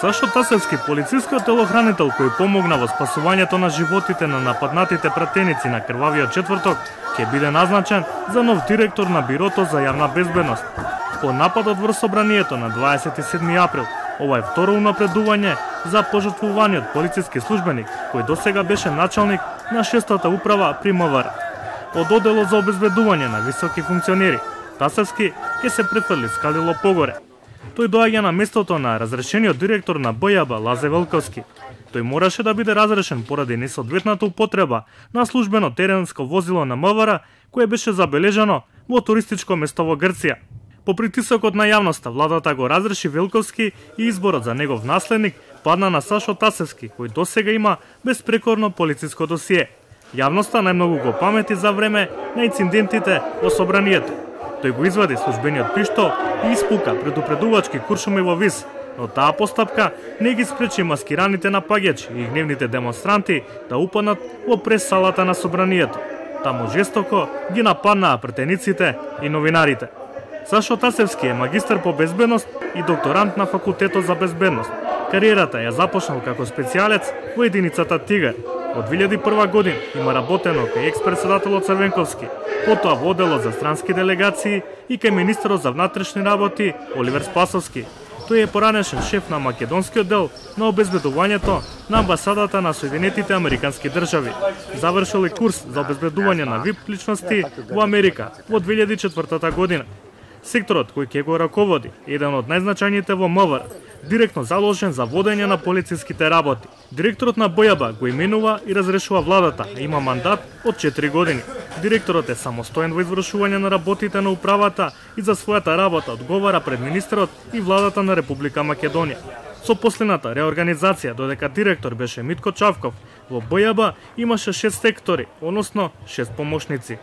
Сашо Тасевски, полицискиот телохранител кој помогна во спасувањето на животите на нападнатите пратеници на крвавиот четврток, ќе биде назначен за нов директор на Бирото за јавна безбедност. По нападот врз собранието на 27 април, ова е второ унапредување за пожртвуваниот полициски службеник, кој досега беше началник на 6-та управа при МВР. Од одделот за обезбедување на високи функционери, Тасевски ќе се префрли скалило погоре. Тој доаѓа на местото на разрешениот директор на БЈБ Лазе Велковски. Тој мораше да биде разрешен поради несоодветната употреба на службено теренско возило на МВР, кое беше забележано во туристичко место во Грција. По притисокот на јавноста, владата го разреши Велковски и изборот за негов наследник падна на Сашо Тасевски, кој досега има безпрекорно полициско досие. Јавноста најмногу го памети за време на инцидентите во собранието. Тој го извади службениот пиштол и испука предупредувачки куршуми во виз, но таа постапка не ги спречи маскираните напаѓачи и гневните демонстранти да упаднат во прес-салата на собранието. Таму жестоко ги нападнаа претениците и новинарите. Сашо Тасевски е магистар по безбедност и докторант на Факултетот за безбедност. Кариерата ја започнал како специјалец во единицата Тигар. Од 2001 година има работено кај екс-председателот Црвенковски, потоа во одделот за странски делегации и кај министерот за внатрешни работи Оливер Спасовски. Тој е поранешен шеф на македонскиот дел на обезбедувањето на амбасадата на Соединетите Американски држави. Завршил и курс за обезбедување на ВИП личности во Америка во 2004 година. Секторот кој ќе го раководи е еден од најзначајните во МВР, директно заложен за водење на полициските работи. Директорот на БЈБ го именува и разрешува владата, а има мандат од 4 години. Директорот е самостоен во извршување на работите на управата и за својата работа одговара пред министерот и владата на Република Македонија. Со последната реорганизација, додека директор беше Митко Чавков, во БЈБ имаше 6 сектори, односно 6 помошници.